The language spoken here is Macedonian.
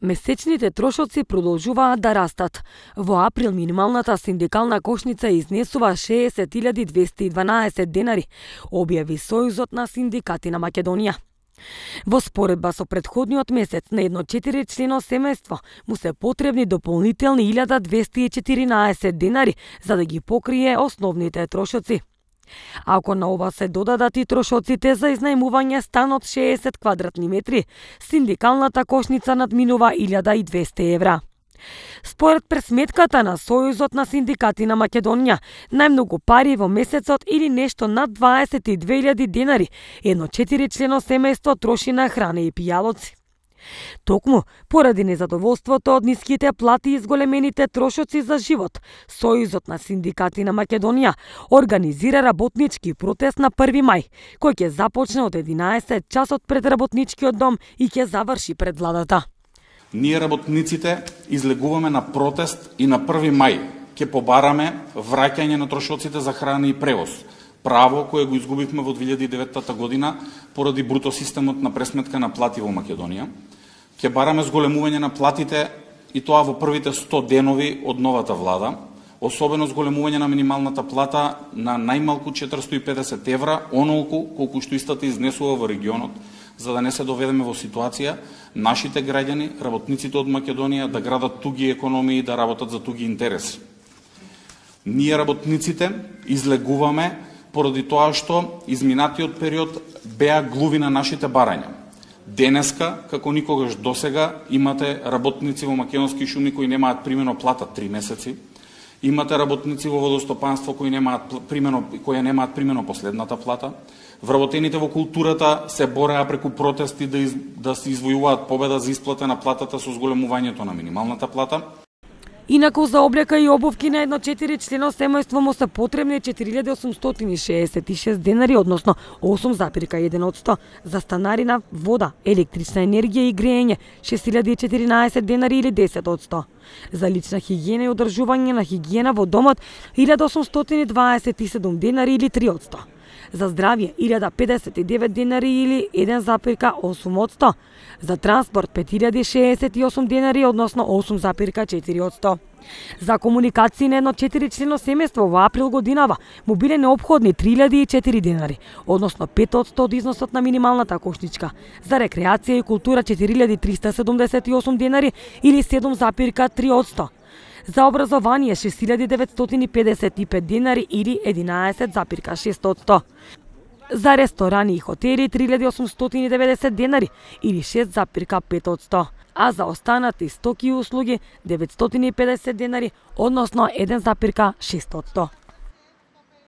Месечните трошоци продолжуваат да растат. Во април минималната синдикална кошница изнесува 60.212 денари, објави Сојузот на синдикати на Македонија. Во споредба со претходниот месец на едно 4-члено семејство му се потребни дополнителни 1.214 денари за да ги покрие основните трошоци. Ако на ова се додадат и трошоците за изнајмување стан од 60 квадратни метри, синдикалната кошница надминува 1.200 евра. Според пресметката на Сојузот на синдикати на Македонија, најмногу пари во месецот или нешто над 22.000 денари едно 4-члено семејство троши на храна и пијалоци. Токму, поради незадоволството од ниските плати и зголемените трошоци за живот, Сојузот на синдикати на Македонија организира работнички протест на 1 мај, кој ќе започне од 11 часот пред работничкиот дом и ќе заврши пред владата. Ние работниците излегуваме на протест и на 1 мај ќе побараме враќање на трошоците за храна и превоз, право кое го изгубивме во 2009 година поради бруто системот на пресметка на плати во Македонија. Ќе бараме зголемување на платите и тоа во првите 100 денови од новата влада, особено зголемување на минималната плата на најмалку 450 евра, онолку колку што истата изнесува во регионот, за да не се доведеме во ситуација нашите граѓани, работниците од Македонија да градат туги економии и да работат за туги интереси. Ние работниците излегуваме поради тоа што изминатиот период беа глуви на нашите барања. Денеска, како никогаш досега, имате работници во македонски шуми кои немаат примено плата 3 месеци, имате работници во водостопанство кои немаат примено последната плата, вработените во културата се бореа преку протести да се извојуваат победа за исплата на платата со зголемувањето на минималната плата. Инаку за облека и обувки на едно 4-члено семејство му се потребни 4.866 денари, односно 8,1%, за станарина, вода, електрична енергија и грејење 6.014 денари или 10%. За лична хигиена и одржување на хигиена во домот 1.827 денари или 3%. За здравје 1.059 денари или 1,8%. За транспорт 5.068 денари, односно 8,4%. За комуникации на едно 4-члено семејство во април годинава му биле неопходни 3.004 денари, односно 5% од износот на минималната кошничка. За рекреација и култура 4.378 денари или 7,3%. За образование 6.955 денари или 11,6%. За ресторани и хотели 3.890 денари или 6,5%. А за останати стоки и услуги 950 денари, односно 1,6%.